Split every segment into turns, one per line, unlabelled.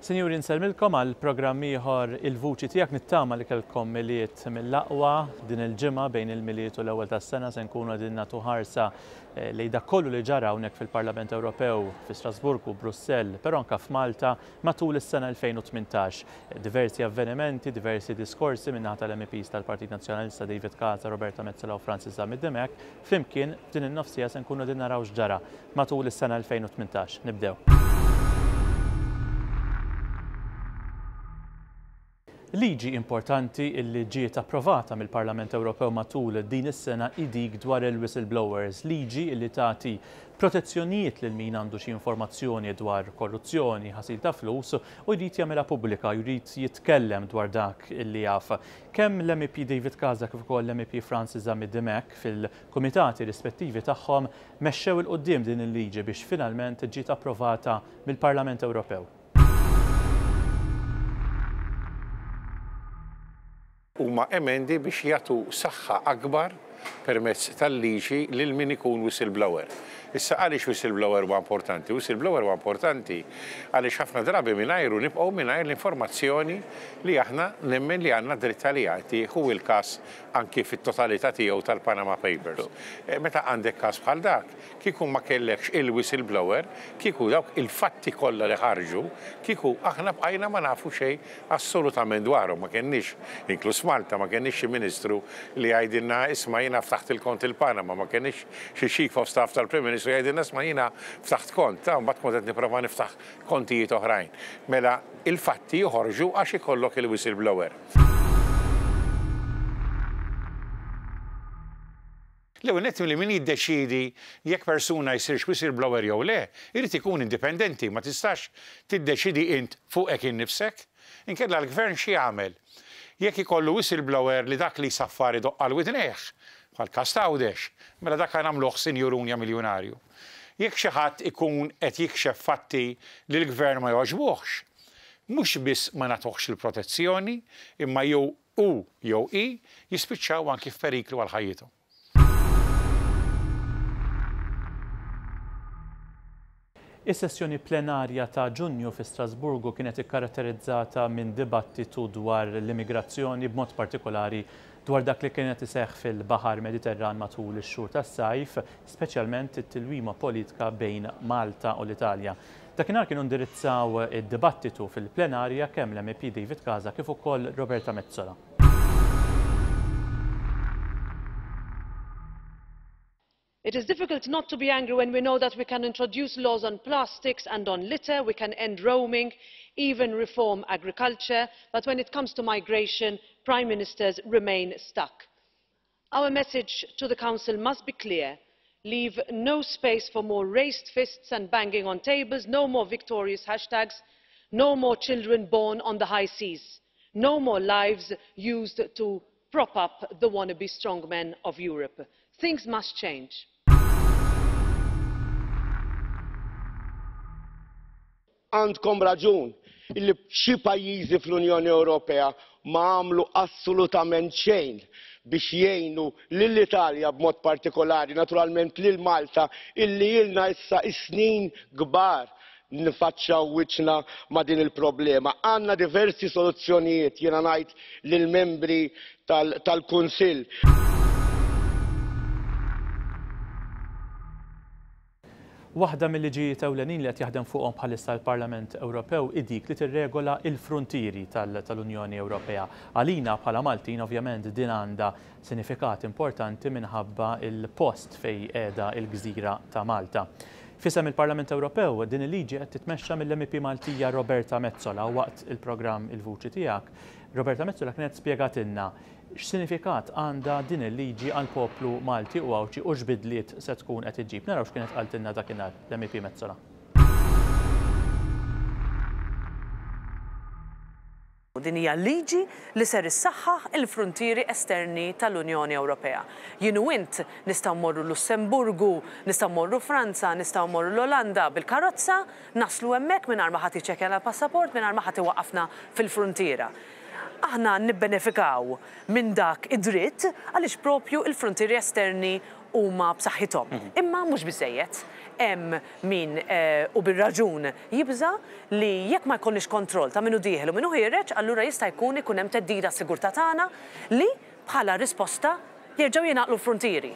Sinjuri nsellmilkom għal programm ieħor Il-Vuċi Tiegħek nittama li kellkom Milied mill-aqwa din il-ġimgħa bejn il-Milied u l-ewwel tas-sena se nkunu qegħdin nagħtu ħarsa eh, lejn dak kollu li ġara hawnhekk fil-Parlament Ewropew fi Strasburgu, Brussell, però anke f'Malta matul is-sena 2018. Diversi avvenimenti, diversi diskorsi min-naħa tal-MEPs tal-Partit Nazzjonalista David Casa, Roberta Metsola u Francis Zammit Dimech, flimkien f'din in-nofsija se nkunu qegħdin naraw x'ġara matul is-sena 2018. Nibdew. Liġi importanti illi ġiet approvata mill-Parlament Ewropew matul din is-sena hi dik dwar il-whistleblowers, liġi illi tagħti protezzjonijiet lil min għandu xi informazzjoni dwar korruzzjoni, ħasil ta' flus u jrid jagħmilha pubblika, jrid jitkellem dwar dak illi jaf. Kemm l-MEP David Casa kif ukoll l-MEP Francis Zammit Dimech fil-kumitati rispettivi tagħhom mexxew 'il quddiem din il-liġi biex finalment ġiet approvata mill-Parlament Ewropew.
Huma emendi biex jagħtu saħħa akbar permezz tal-liġi lil min ikun whistleblower. Issa għaliex whistleblower huwa importanti? Whistleblower huwa importanti għaliex ħafna drabi mingħajru nibqgħu mingħajr l-informazzjoni li aħna nemmen li għandna dritt għaliha. Tieħu l-każ anki fit-totalità tiegħu tal-Panama Papers. Meta għandek każ bħal dak, kieku ma kellekx il-whistleblower, kieku dawk il-fatti kollha li ħarġu, kieku aħna bqajna ma nafu xejn assolutament dwarhom. Ma kenniex, inkluż Malta, ma kenniex xi ministru li jgħidilna isma' jiena ftaħt il-kont il-Panama, ma kenniex xi chief of staff tal-Prim Ministru jgħidilna isma' jiena ftaħt kont, ta' mbagħad kont qed nipprova niftaħ kontijiet oħrajn. Mela il-fatti joħorġu għax ikollok il-whistleblower. L-ewwel nett li min jiddeċiedi jekk persuna jsirx whistleblower jew le, irid ikun indipendenti, ma tistax tiddeċiedi int fuqek innifsek. Inkella l-Gvern x'jagħmel? Jekk ikollu whistleblower li dak li jsaffar idoqq għal widnejh, bħall-każ t'Għawdex, mela dak nagħmluh sinjurun ja miljunarju. Jekk xi ħadd ikun qed jikxef fatti li l-Gvern ma jogħġbuhx, mhux biss ma nagħtuhx il-protezzjoni, imma jew hu jew hi jispiċċaw anki f'periklu għal ħajjithom.
Is-sessjoni plenarja ta' Ġunju fi Strasburgu kienet ikkaratterizzata minn dibattitu dwar l-immigrazzjoni, b'mod partikolari dwar dak li kien qed iseħħ fil-Baħar Mediterran matul ix-xhur tas-sajf, speċjalment it-tilwima politika bejn Malta u l-Italja. Dakinhar kienu indirizzaw id-dibattitu fil-plenarja kemm l-MEP David Casa kif ukoll Roberta Metsola.
It is difficult not to be angry when we know that we can introduce laws on plastics and on litter, we can end roaming, even reform agriculture, but when it comes to migration, prime ministers remain stuck. Our message to the Council must be clear. Leave no space for more raised fists and banging on tables, no more victorious hashtags, no more children born on the high seas, no more lives used to prop up the wannabe strongmen of Europe. Things must change.
Għandkom raġun illi xi pajjiżi fl-Unjoni Ewropea ma għamlu assolutament xejn biex jgħinu lill-Italja b'mod partikolari, naturalment lil Malta illi ilna issa is-snin kbar nifaċċaw wiċċna ma' din il-problema. Għandna diversi soluzzjonijiet, jiena ngħid lill-membri tal-Kunsill.
Waħda mil-liġijiet ewlenin li qed jaħdem fuqhom bħalissa l-Parlament Ewropew hi dik li tirregola l-fruntieri tal-Unjoni Ewropea. Għalina bħala Maltin ovvjament din għandha sinifikat importanti minħabba l-post fejn qiegħda l-gżira ta' Malta. F'isem il-Parlament Ewropew din il-liġi qed titmexxa mill-MEP Maltija Roberta Metsola u waqt il-programm Il-Vuċi Tiegħek, Roberta Metsola kienet spjegatilna X'sinifikat għandha din il-liġi għall-poplu Malti u Għawdxi u x'bidliet se tkun qed iġġib? Naraw x'kienet qaltilna dakinhar l-MEP Metsola.
Din hija liġi li ser issaħħaħ il-fruntieri esterni tal-Unjoni Ewropea. Jien u int nistgħu mmorru Lussemburgu, nistgħu mmorru Franza, nistgħu mmorru l-Olanda bil-karozza, naslu hemmhekk mingħajr ma ħadd jiċċekkjana l-passaport, mingħajr ma ħadd iwaqqafna fil-fruntiera. Aħna nibbenefikaw minn dak id-dritt għaliex proprju l-fruntieri esterni huma b'saħħithom. Imma mhux biżżejjed. Hemm min, u bir-raġun, jibża' li jekk ma jkollniex kontroll ta' min hu dieħel u min hu ħiereġ, allura jista' jkun ikun hemm theddida għas-sigurtà tagħna li, bħala risposta, jerġgħu jingħaqlu l-fruntieri.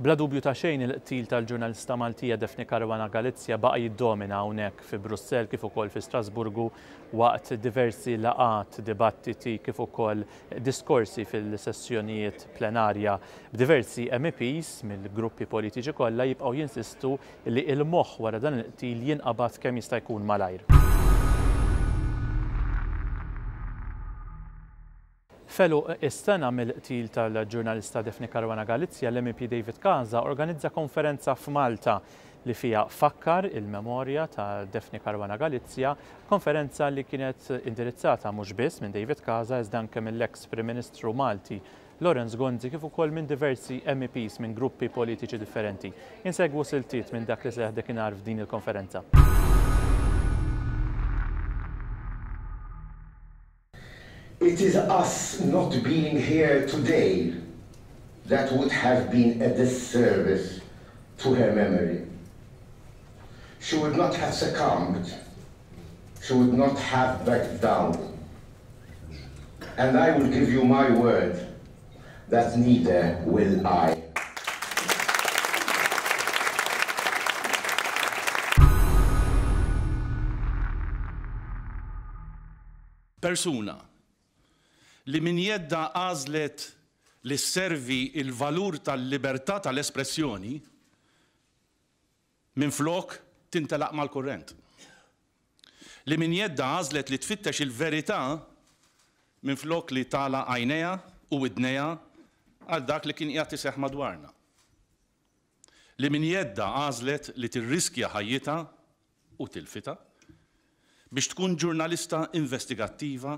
Bla dubju ta' xejn il-qtil tal-ġurnalista Maltija Daphne Caruana Galizia baqa' jiddomina hawnhekk fi Brussell kif ukoll fi Strasburgu waqt diversi laqgħat, dibattiti kif ukoll diskorsi fil-sessjonijiet plenarja b'diversi MEPs mill-gruppi politiċi kollha jibqgħu jinsistu li l-moħħ wara dan il-qtil jinqabad kemm jista' jkun malajr. F'għeluq is-sena mill-qtil tal-ġurnalista Daphne Caruana Galizia, l-MEP David Casa organizza konferenza f'Malta li fiha fakkar il-memorja ta' Daphne Caruana Galizia, konferenza li kienet indirizzata mhux biss minn David Casa iżda anke mill-eks Prim Ministru Malti Lawrence Gonzi kif ukoll minn diversi MEPs minn gruppi politiċi differenti. Insegwu siltiet minn dak li seħħ dakinhar f'din il-konferenza.
It is us not being here today that would have been a disservice to her memory. She would not have succumbed. She would not have backed down. And I will give you my word that neither will I.
Persuna li minn jeddha għażlet li sservi l-valur tal-libertà tal-espressjoni minflok tintelaq mal-kurrent. Li minn jeddha għażlet li tfittex il-verità minflok li tagħlaq għajnejha u widnejha għal dak li kien qiegħed iseħħ madwarna. Li minn jeddha għażlet li tirriskja ħajjitha u tilfitha biex tkun ġurnalista investigattiva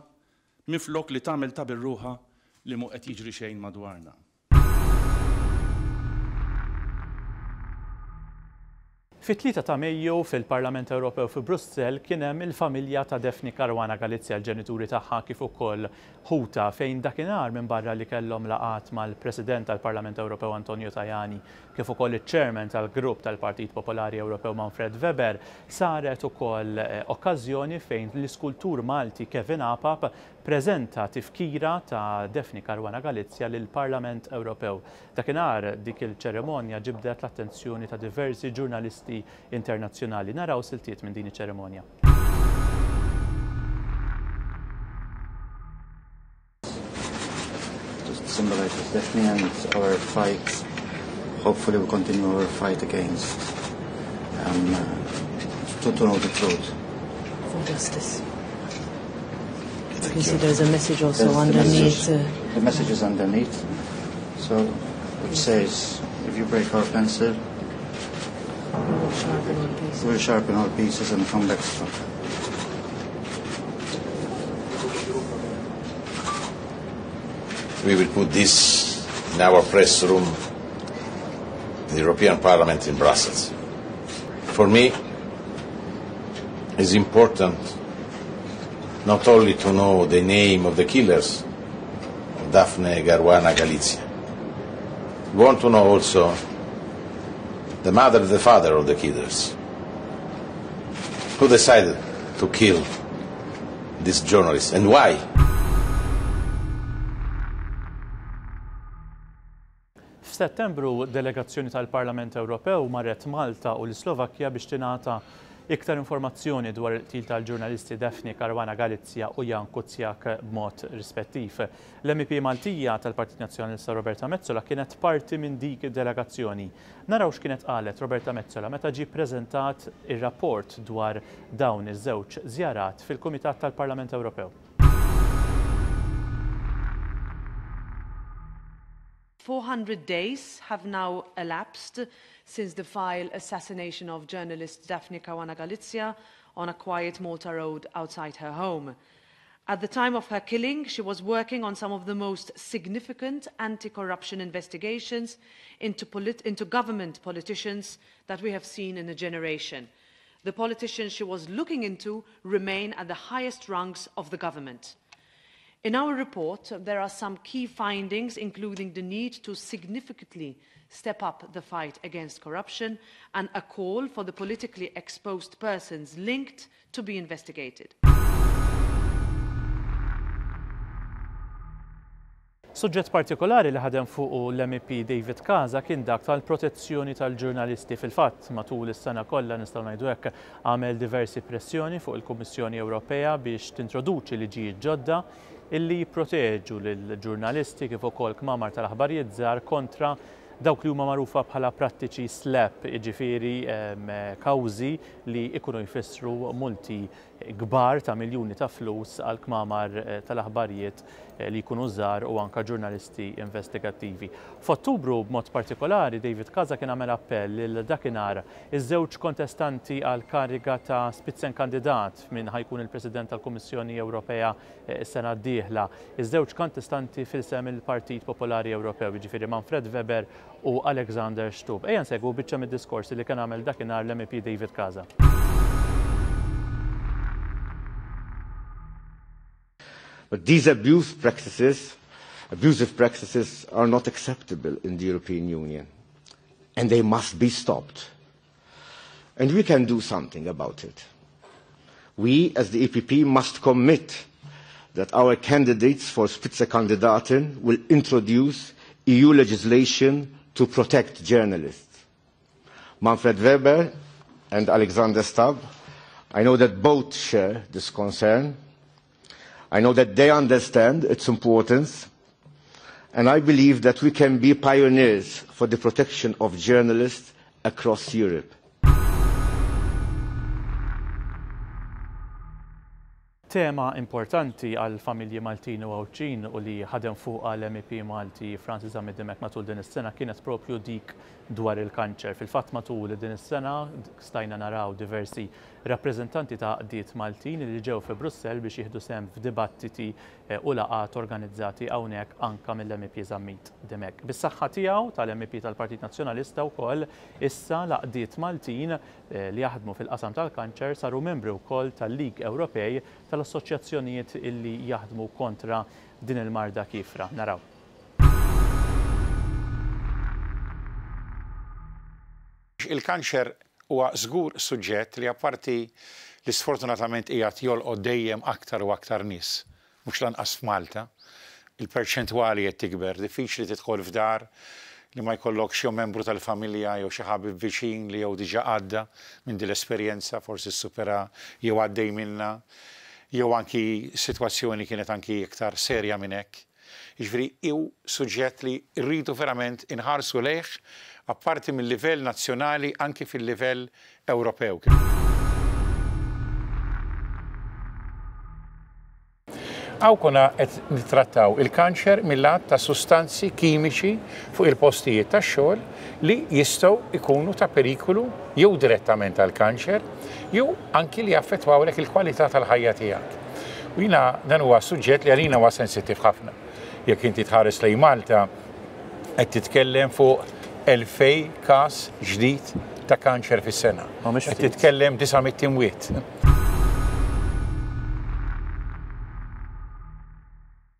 minflok li tagħmel ta' bir-ruħha li mhu qed jiġri xejn madwarna.
Fit-tlieta ta' Mejju, fil-Parlament Ewropew fi Brussell, kien hemm il-familja ta' Daphne Caruana Galizia, l-ġenituri tagħha kif ukoll ħutha, fejn dakinhar minbarra li kellhom laqgħat mal-President tal-Parlament Ewropew Antonio Tajani kif ukoll iċ-Chairman tal-Grupp tal-Partit Popolari Ewropew Manfred Weber, saret ukoll okkażjoni fejn l-iskultur Malti Kevin Apap preżenta tifkira ta' Daphne Caruana Galizia lill-Parlament Ewropew. Dakinhar dik il-ċerimonja ġibdet l-attenzjoni ta' diversi ġurnalisti internazzjonali. Naraw siltiet minn din iċ-ċerimonja.
Just symbolizes Daphne and our fight. Hopefully we continue our fight against um, to, to know the truth.
For justice. You can see there's a message also there's underneath.
The message, uh, the message is underneath. So, which says, if you break our pencil,
we will sharpen our pieces.
We'll sharpen our pieces and come back stronger.
We will put this in our press room, the European Parliament in Brussels. For me, it's important not only to know the name of the killers of Daphne Caruana Galizia. We want to know also the mother and the father of the killers, who decided to kill this journalist and why.
F'Settembru, delegazzjoni tal-Parlament Ewropew marret Malta u l-Islovakkja biex tingħata iktar informazzjoni dwar il-qtil tal-ġurnalisti Daphne Caruana Galizia u Jan Kuciak b'mod rispettiv. L-MEP Maltija tal-Partit Nazzjonalista Roberta Metsola kienet parti minn dik id-delegazzjoni. Naraw x'kienet qalet Roberta Metsola meta ġie ppreżentat ir-rapport dwar dawn iż-żewġ żjarat fil-Kumitat tal-Parlament Ewropew.
400 days have now elapsed since the vile assassination of journalist Daphne Caruana Galizia on a quiet Malta road outside her home. At the time of her killing, she was working on some of the most significant anti-corruption investigations into, into government politicians that we have seen in a generation. The politicians she was looking into remain at the highest rungs of the government. In our report, there are some key findings, including the need to significantly step up the fight against corruption and a call for the politically exposed persons linked to be investigated.
Suġġett partikolari li ħadem fuqu l-MEP David Casa kien dak tal-protezzjoni tal-ġurnalisti. Fil-fatt, matul is-sena kollha nistgħu ngħidu hekk għamel diversi pressjoni fuq il-Kummissjoni Ewropea biex tintroduċi liġijiet ġodda illi jipproteġu lill-ġurnalisti kif ukoll kmamar tal-aħbarijiet żgħar kontra dawk li huma magħrufa bħala prattiċi SLAPP, jiġifieri kawżi li jkunu jfissru multi kbar ta' miljuni ta' flus għal kmamar tal-aħbarijiet li jkunu żgħar u anke ġurnalisti investigattivi. F'Ottubru b'mod partikolari David Casa kien għamel appell lil dakinhar iż-żewġ kontestanti għal kariga ta' Spitzenkandidat f'min ħa jkun il-President tal-Kummissjoni Ewropea s-sena d-dieħla. Iż-żewġ kontestanti f'isem il-Partit Popolari Ewropew, jiġifieri Manfred Weber u Alexander Stubb. Ejja nsegwu biċċa mid-diskors li kien għamel dakinhar l-MEP David Casa.
But these abuse practices, abusive practices are not acceptable in the European Union and they must be stopped. And we can do something about it. We, as the EPP, must commit that our candidates for Spitzenkandidaten will introduce EU legislation to protect journalists. Manfred Weber and Alexander Stubb, I know that both share this concern. I know that they understand its importance, and I believe that we can be pioneers for the protection of journalists across Europe.
Tema importanti għall-familji Maltin u Għawdxin u li ħadem fuqha l-MEP Malti Francis Zammit Dimech matul din is-sena kienet propju dik dwar il-kanċer. Fil-fatt matul din is-sena stajna naraw diversi rappreżentanti ta' għaqdiet Maltin li ġew fi Brussell biex jieħdu sehem f'dibattiti u laqgħat organizzati hawnhekk anke mill-MEP Zammit Dimech. Bis-saħħa tiegħu tal-MEP tal-Partit Nazzjonalista wkoll issa l-għaqdiet Maltin li jaħdmu fil-qasam tal-kanċer saru membri wkoll tal-League Ewropej tal-Assoċjazzjonijiet illi jaħdmu kontra din il-marda kiefra. Naraw.
Il-kanċer huwa żgur suġġett li apparti li sfortunatament qiegħed jolqot dejjem aktar u aktar nies, mhux lanqas f'Malta, il-perċentwali qed tikber, diffiċli tidħol f'dar li ma jkollokx jew membru tal-familja jew xi ħabib viċin li jew diġà għadda minn din l-esperjenza, forsi ssupera jew għaddej minnha, jew anki sitwazzjoni kienet anki iktar serja minn hekk. Jiġifieri hu suġġett li rridu verament inħarsu lejh apparti mil-livell nazzjonali anki fil-livell Ewropew. Hawn konna qed nittrattaw il-kanċer mil-lat ta' sustanzi kimiċi fuq il-postijiet tax-xogħol li jistgħu jkunu ta' perikolu jew direttament għall-kanċer jew anki li jaffettwawlek il-kwalità tal-ħajja tiegħek. U jiena dan huwa suġġett li għalina huwa sensittiv ħafna. Jekk inti tħares lejn Malta qed titkellem fuq 2000 każ ġdid ta' kanċer fis-sena. Qed titkellem 900 imwiet.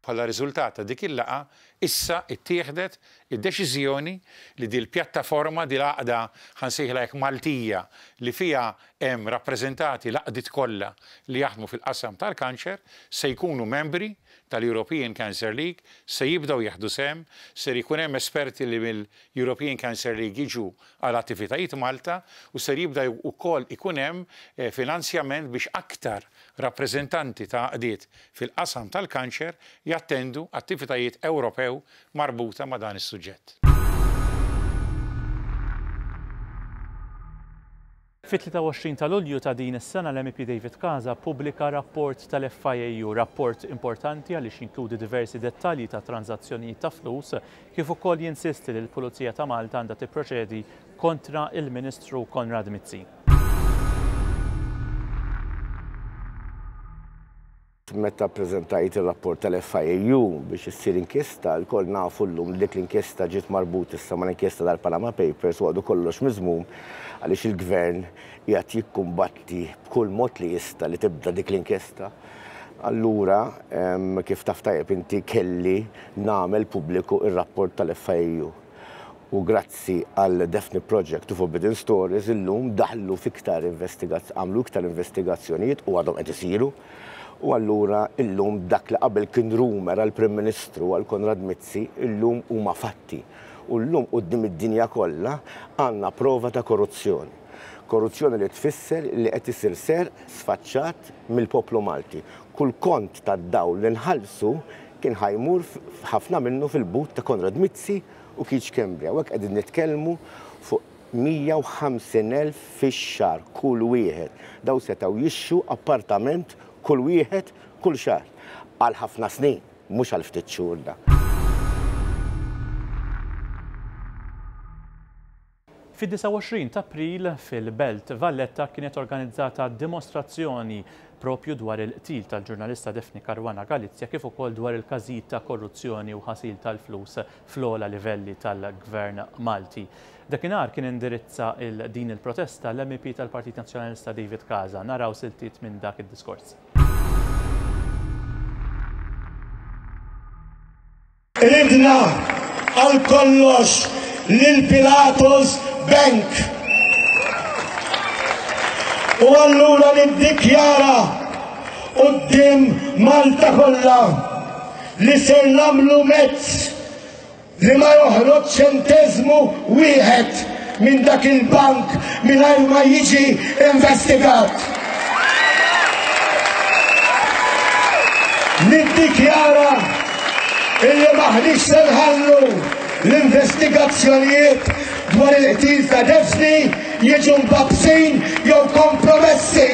Bħala riżultat ta' dik il-laqgħa, issa ttieħdet id-deċiżjoni li dil-pjattaforma, dil-għaqda, ħa nsejħilha hekk Maltija, li fiha hemm rappreżentati l-għaqdiet kollha li jaħdmu fil-qasam tal-kanċer, se jkunu membri tal-European Cancer League, se jibdew jieħdu sehem, ser ikun hemm esperti li mill-European Cancer League jiġu għal attivitajiet Malta u ser jibda wkoll ikun hemm finanzjament biex aktar rappreżentanti ta' għaqdiet fil-qasam tal-kanċer jattendu attivitajiet Ewropew marbuta ma' dan is-suġġett.
Fit-23 ta' Lulju ta' din is-sena l-MEP David Casa ppubblika rapport tal-FIAU, rapport importanti għaliex jinkludi diversi dettalji ta' tranżazzjonijiet ta' flus kif ukoll jinsisti li l-Pulizija ta' Malta għandha tipproċedi kontra il-Ministru Konrad Mizzi.
Meta ppreżentajt ir-rapport tal-FIAU biex issir inkjesta, lkoll nafu llum li dik l-inkjesta ġiet marbut issa mal-inkjesta tal-Panama Papers u għadu kollox miżmum għaliex il-Gvern qiegħed jikkumbatti b'kull mod li jista' li tibda dik l-inkjesta. Allura, kif taf tajjeb inti kelli nagħmel pubbliku r-rapport tal-FIAU. U grazzi għal Daphne Project u Forbidden Stories illum daħlu f'iktar għamlu iktar investigazzjonijiet u għadhom qed isiru. U allura illum dak li qabel kien rumour għall-Prim Ministru għal Konrad Mizzi illum huma fatti. U llum quddiem id-dinja kollha għandna prova ta' korruzzjoni. Korruzzjoni li tfisser li qed isir serq sfaċċat mill-poplu Malti. Kull kont tad-dawl li nħallsu kien ħa jmur ħafna minnu fil-but ta' Konrad Mizzi u Keith Schembri. Hawnhekk qegħdin nitkellmu fuq 150,000 fix-xahar kull wieħed. Dawn setgħu jixtru appartament kull wieħed kull xahar għal ħafna snin, mhux għal ftit xhur da.
Fid-29 t'April fil-Belt Valletta kienet organizzata dimostrazzjoni propju dwar il-qtil tal-ġurnalista Daphne Caruana Galizia kif ukoll dwar il-każijiet ta' korruzzjoni u ħasil tal-flus fl-ogħla livelli tal-Gvern Malti. Dakinhar kien indirizza din il-protesta l-MEP tal-Partit Nazzjonalista David Casa. Naraw siltiet minn dak id-diskors.
Qridna għal kollox lil Pilatus Bank. U allura niddikjara quddiem Malta kollha li ser nagħmlu mezz li ma joħroġ ċenteżmu wieħed minn dak il-bank mingħajr ma jiġi investigat. Niddikjara illi m'aħniex se nħallu l-investigazzjonijiet dwar il-qtil ta' Daphne jiġu mbabsin jew kompromessi.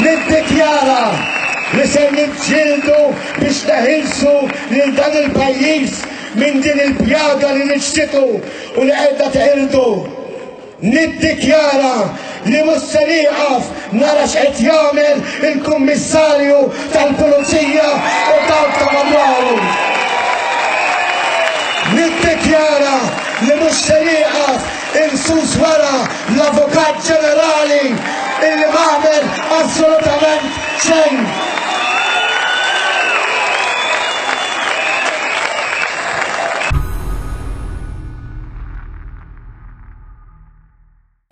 Niddikjara li se niġġieldu biex neħilsu lil dan il-pajjiż minn din il-pjaga li niġġitu u li qiegħda teqirdu. Niddikjara li mhux se nieqaf nara x'qed jagħmel il-Kummissarju tal-Pulizija u dawk ta' madwaru. Niddikjara li mhux se nieqaf insus wara l-Avukat Ġenerali illi m'għamel assolutament xejn.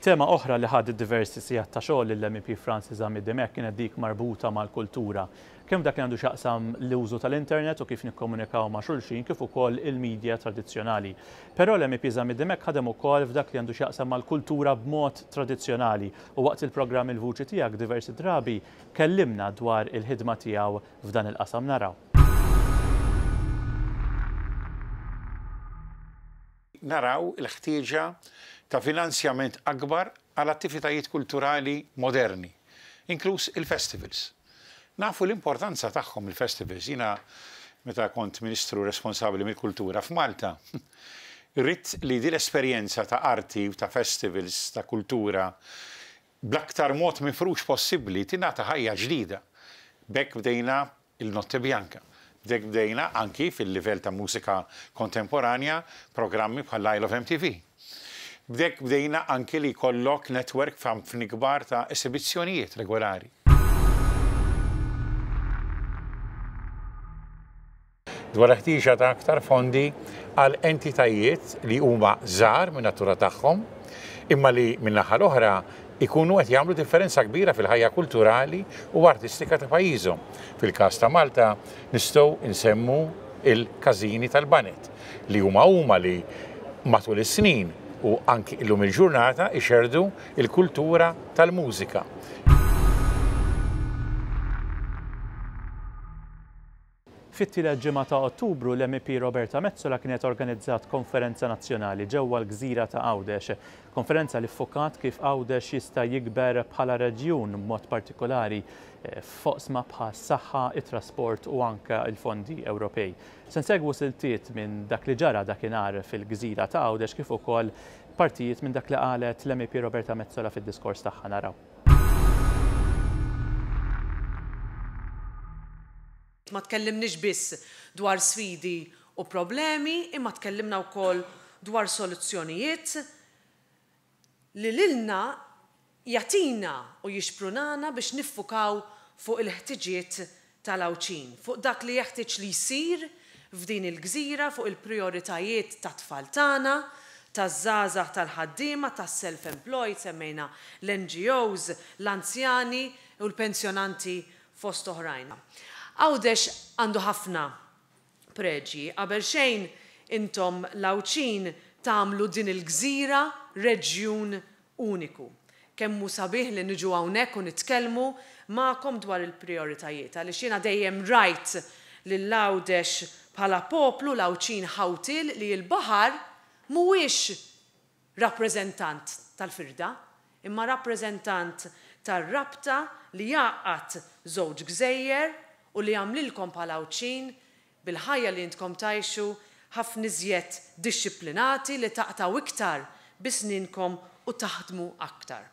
Tema oħra li ħadet diversi sigħat ta' xogħol lill-MEP Francis Zammit Dimech kienet dik marbuta mal-kultura. Kemm dak li għandu x'jaqsam l-użu tal-internet u kif nikkomunikaw ma' xulxin kif ukoll il-media tradizzjonali. Però l-MEP Zammit Dimech ħadem ukoll f'dak li għandu x'jaqsam mal-kultura b'mod tradizzjonali u waqt il-programm Il-Vuċi Tiegħek diversi drabi kellimna dwar il-ħidma tiegħu f'dan il-qasam. Naraw.
Naraw il-ħtieġa ta' finanzjament akbar għal attivitajiet kulturali moderni, inkluż il-festivals. Nafu l-importanza tagħhom il-festivals. Jiena meta kont Ministru responsabbli mill-kultura f'Malta, ridt li din l-esperjenza ta' arti u ta' festivals ta' kultura bl-aktar mod mifrux possibbli tingħata ħajja ġdida. B'hekk bdejna il-Notte Bianca. B'hekk bdejna anki fil-livell ta' mużika kontemporanja programmi bħal Isle of MTV. B'hekk bdejna anki li jkollok network f'ħafna kbar ta' esibizzjonijiet regolari. Dwar il-ħtieġa ta' aktar fondi għal entitajiet li huma żgħar min-natura tagħhom imma li min-naħa l-oħra ikunu qed jagħmlu differenza kbira fil-ħajja kulturali u artistika ta' pajjiżhom. Fil-każ ta' Malta nistgħu nsemmu il-każini tal-baned li huma huma li matul is-snin u anki illum il-ġurnata ixerrdu l-kultura tal-mużika.
Fit-tielet ġimgħa ta' Ottubru, l-MEP Roberta Metsola kienet organizzat konferenza nazzjonali ġewwa l-gżira ta' Għawdex. Konferenza li ffukat kif Għawdex jista' jikber bħala reġjun b'mod partikolari f'oqsma bħas-saħħa, it-trasport u anke l-fondi Ewropej. Se nsegwu siltiet minn dak li ġara dakinhar fil-gżira ta' Għawdex kif ukoll partijiet minn dak li qalet l-MEP Roberta Metsola fid-diskors tagħha. Naraw.
Ma tkellimniex biss dwar sfidi u problemi imma tkellimna wkoll dwar soluzzjonijiet li lilna jagħtina u jixprunana biex niffukaw fuq il-ħtiġiet tal-Għawdxin, fuq dak li jeħtieġ li jsir f'din il-gżira, fuq il-prijoritajiet tat-tfal tagħna, taż-żgħażagħ, tal-ħaddiema, tas-self-employed, semmejna l-NGOs, l-anzjani u l-pensjonanti fost oħrajn. Għawdex għandu ħafna preġji. Qabel xejn intom l-Għawdxin tagħmlu din il-gżira reġjun uniku. Kemm hu sabiħ li niġu hawnhekk u nitkellmu magħkom dwar il-prijoritajiet għaliex jiena dejjem rajt lil Għawdex bħala poplu, l-Għawdxin ħawtiel li l-baħar mhuwiex rappreżentant tal-firda, imma rappreżentant tar-rabta li jgħaqqad żewġ gżejjer u li jagħmlilkom bħala Għawdxin, bil-ħajja li intkom tgħixu, ħafna iżjed dixxiplinati, li taqtgħu iktar bi snienkom u taħdmu aktar.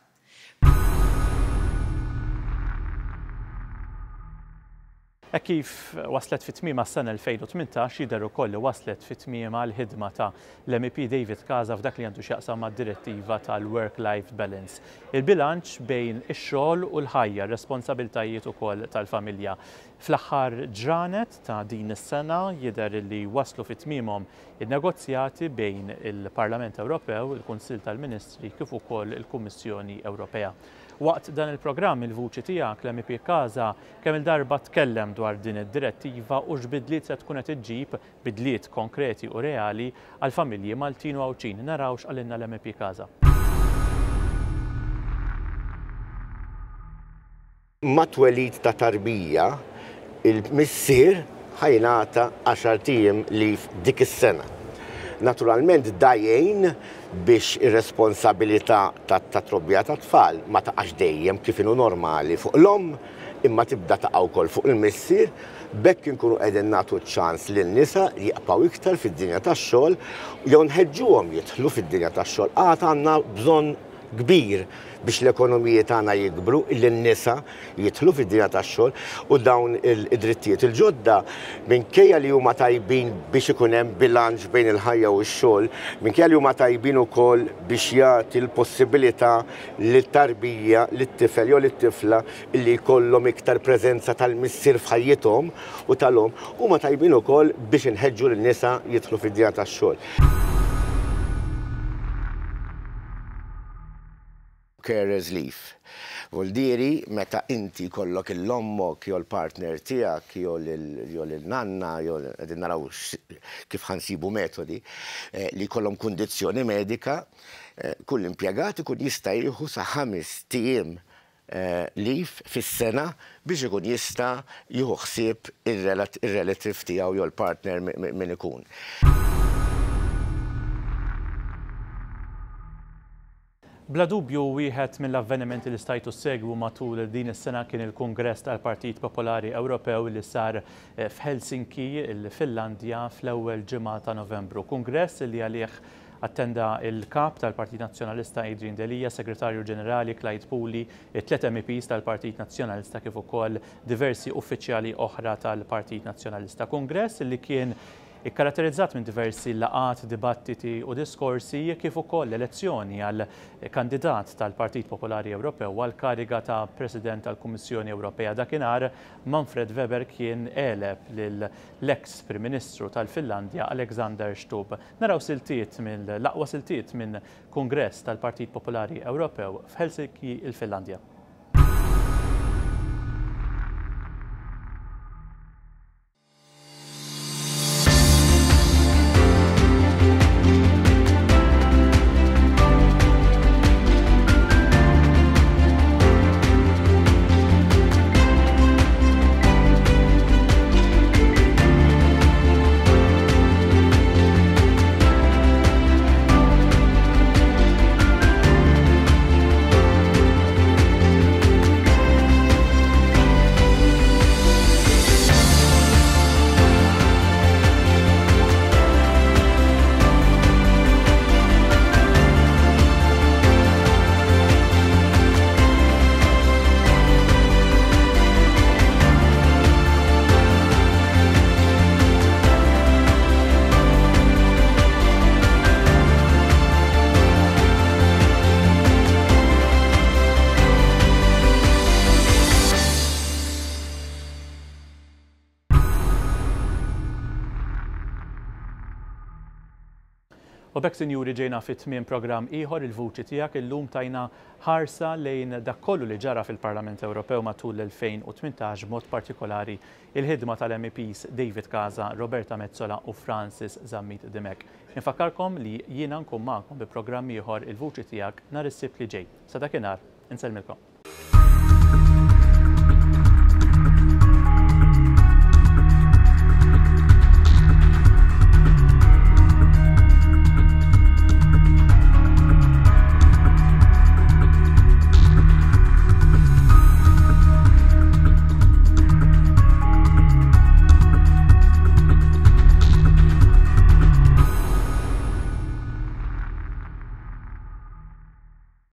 Hekk kif waslet fi tmiemha s-sena 2018 jidher ukoll li waslet fi tmiemha l-ħidma ta' l-MEP David Casa f'dak li għandu x'jaqsam mad-direttiva tal-work life balance. Il-bilanċ bejn ix-xogħol u l-ħajja, r-responsabiltajiet ukoll tal-familja. Fl-aħħar ġranet ta' din is-sena jidher li waslu fi tmiemhom in-negozjati bejn il-Parlament Ewropew, il-Kunsill tal-Ministri kif ukoll il-Kummissjoni Ewropea. Waqt dan il-programm Il-Vuċi Tiegħek, l-MEP Casa kemm-il darba tkellem dwar din id-direttiva u x'bidliet se tkun qed iġġib, bidliet konkreti u reali, għall-familji Maltin u Għawdxin. Naraw x'qalilna l-MEP Casa.
Mat-twelid ta' tarbija, il-missier ħa jingħata għaxart ijiem leave dik is-sena. Naturalment da jgħin biex ir-responsabilità tat-trobbija tat-tfal ma taqax dejjem kif inhu normali fuq l-omm imma tibda taqa' wkoll fuq il-missier, b'hekk inkunu qegħdin nagħtu ċ-ċans lin-nisa jibqgħu iktar fid-dinja tax-xogħol jew nħeġġuhom jidħlu fid-dinja tax-xogħol. Għad għandna bżonn kbir biex l-ekonomiji tagħna jikbru, illi n-nisa jidħlu fid-dinja tax-xogħol u dawn id-drittijiet il-ġodda minkejja li huma tajbin biex ikun hemm bilanċ bejn il-ħajja u x-xogħol, minkejja li huma tajbin ukoll biex jagħti l-possibilità lit-tarbija, lit-tifel jew lit-tifla illi jkollhom iktar preżenza tal-missier f'ħajjithom u tal-omm, huma tajbin ukoll biex inħeġġu lin-nisa jidħlu fid-dinja tax-xogħol. Carer's leave. Voldieri meta inti jkollok 'il ommok jew l-partner tiegħek jew lil nanna jew qegħdin naraw kif ħa nsibu metodi li jkollhom kundizzjoni medika, kull impjegat ikun jista' jieħu sa ħamest ijiem leave fis-sena biex ikun jista' jieħu ħsieb ir-relative tiegħu jew l-partner min ikun.
Bla dubju wieħed mill-avvenimenti li stajtu ssegwu matul din is-sena kien il-Kungress tal-Partit Popolari Ewropew li sar f'Helsinki, il-Finlandja, fl-ewwel ġimgħa ta' Novembru. Kungress li għalih Attenda l-Kap tal-Partit Nazzjonalista Adrian Delia, Segretarju Ġenerali Clyde Puli, it-tliet MEPs tal-Partit Nazzjonalista kif ukoll diversi uffiċjali oħra tal-Partit Nazzjonalista. Kungress li kien ikkaratterizzat minn diversi laqgħat, dibattiti u diskorsi kif ukoll elezzjoni għal kandidat tal-Partit Popolari Ewropew għall-kariga ta' President tal-Kummissjoni Ewropea. Dakinhar Manfred Weber kien għeleb lill-eks Prim Ministru tal-Finlandja Alexander Stubb. Naraw siltiet mill-aqwa siltiet minn Kungress tal-Partit Popolari Ewropew f'Helsinki, il-Finlandja. U b'hekk, sinjuri, ġejna fi tmiem programm ieħor, Il-Vuċi Tiegħek. Illum tajna ħarsa lejn dak kollu li ġara fil-Parlament Ewropew matul l-2018, b'mod partikolari il-ħidma tal-MEPs David Casa, Roberta Metsola u Francis Zammit Dimech. Infakkarkom li jiena nkun magħkom bi programm ieħor, Il-Vuċi Tiegħek, nhar is-Sibt li ġej. Sa dakinhar, insellmilkom.